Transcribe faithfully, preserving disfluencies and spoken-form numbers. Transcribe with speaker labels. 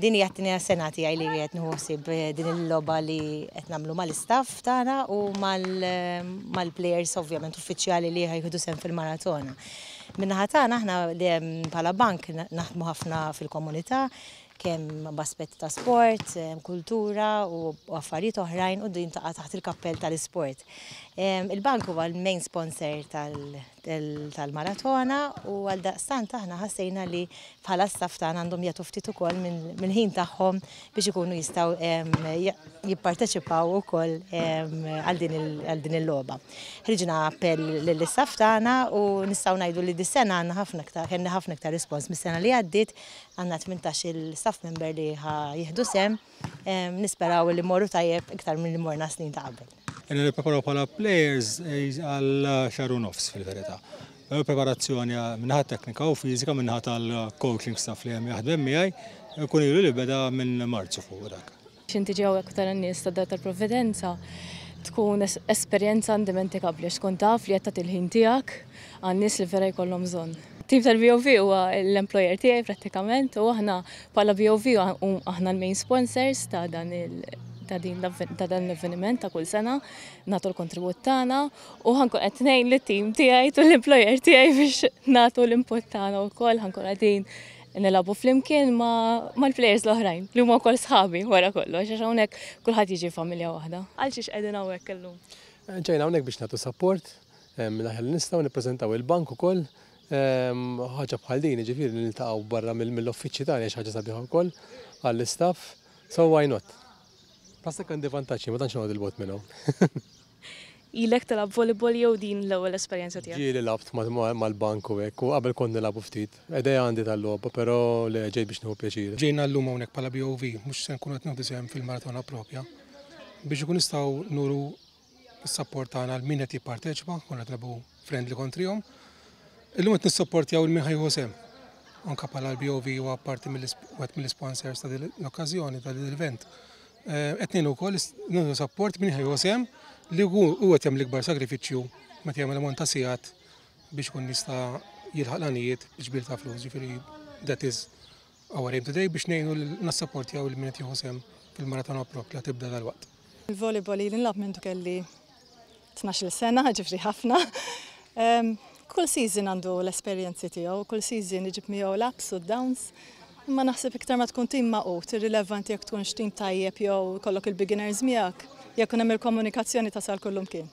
Speaker 1: Din hija t-tieni sena tiegħi li qed nieħu ħsieb din il-logħba li qed nagħmlu mal-istaff tagħna u mal-players, ovvjament uffiċjali, li ħa jieħdu sehem fil-maratona. Min-naħa tagħna, aħna bħala bank naħdmu ħafna fil-komunità, kemm b'aspett ta' sport, kultura u affarijiet oħrajn, u din taqa' taħt il-kappell tal-isport. Il-bank huwa l-main sponsor tal-maratona u għal daqstant aħna ħassejna li bħala staff tagħna għandhom jagħtu ftit ukoll mill-ħin tagħhom biex ikunu jistgħu jipparteċipaw ukoll għal din il-logħba. Ħriġna appell lill-istaff tagħna u nistgħu ngħidu li dis-sena għandna ħafna iktar, kellna ħafna iktar respons mis-sena li għaddiet. Għandna tmintax-il staff member li ħa jieħdu sehem, nisperaw li morru tajjeb iktar minn li morna snin ta' qabel.
Speaker 2: Ilna nippreparaw bħala players għal xahar u nofs fil-verità. Preparazzjoni min-naħa teknika u fiżika min-naħa tal-coaching staff li hemm jaħdem miegħi kun ilu li beda minn Marzu fuq dak.
Speaker 3: X'inti ġew hekk tara n-nies ta' Dar tal-Providenza, tkun esperjenza indimentikabbli, tkun taf li qed tagħti il-ħin tiegħek għan-nies li vera jkollhom bżonn. Tim tal-B O V huwa l-employer tiegħi prattikament u aħna bħala B O V aħna l-main sponsors ta' dan il ta' din ta' dan l-avveniment ta' kull sena, nagħtu l-kontribut tagħna u ħa nkun qed ngħin lit-tim tiegħi u l-employer tiegħi biex nagħtu l-input tagħna wkoll. Ħa nkun qegħdin nilagħbu flimkien mal-players l-oħrajn li huma wkoll sħabi wara kollox, għax hawnhekk kulħadd jiġi familja waħda.
Speaker 4: Għal xiex qegħdin hawnhekk illum?
Speaker 5: Ġejna hawnhekk biex nagħtu support, l-aħjar li nistgħu nippreżentaw il-bank ukoll. Ħaġa bħal din, ġifieri niltaqgħu barra mill-uffiċċji tagħna, xi ħaġa sabiħa wkoll għall-istaff. So why not? Plus għandi vantaġġi, ma tantx noqgħod 'il bogħod minnhom.
Speaker 4: Ilek tilgħab volleyball jew din l-ewwel esperjenza tiegħek?
Speaker 5: Ġieli lgħabt mal-bank u hekk, u qabel kont nilagħbu ftit. Idea għandi tal-logħba, però le, ġejt biex nieħu pjaċir.
Speaker 6: Ġejna llum hawnhekk bħala B O V, mhux se nkunu qed nieħdu sehem fil-maratona propja, biex ikun nistgħu nuru s-support tagħna lil min qed jipparteċipa, konna qed nilagħbu friendly kontrihom. Illum qed nissupportjaw lil min ħa jieħu sehem. Anka bħala l-B O V huwa parti wieħed mill-sponsors ta' din l-okkażjoni, ta' din l-event. Qed ngħinu wkoll nuru support min ħa jieħu sehem, li hu qed jagħmel l-ikbar sagrifiċċju meta jagħmel ammont ta' sigħat biex ikun jista' jilħaq l-għanijiet ġbir ta' flus. Ġifieri that is our aim today, biex ngħinu nassapportjaw lil min qed jieħu sehem fil-maratona propja tibda dal-waqt.
Speaker 7: Il-volleyball ili nilgħab minn kelli tnax-il sena, ġifieri ħafna. Kull season għandu l-esperjenzi tiegħu, kull season iġib miegħu l-ups u downs. Imma naħseb iktar ma tkun tim magħqud, irrilevanti jekk tkunx tim tajjeb jew kollok il-beginners miegħek, jekk hemm il-komunikazzjoni tasal kullimkien.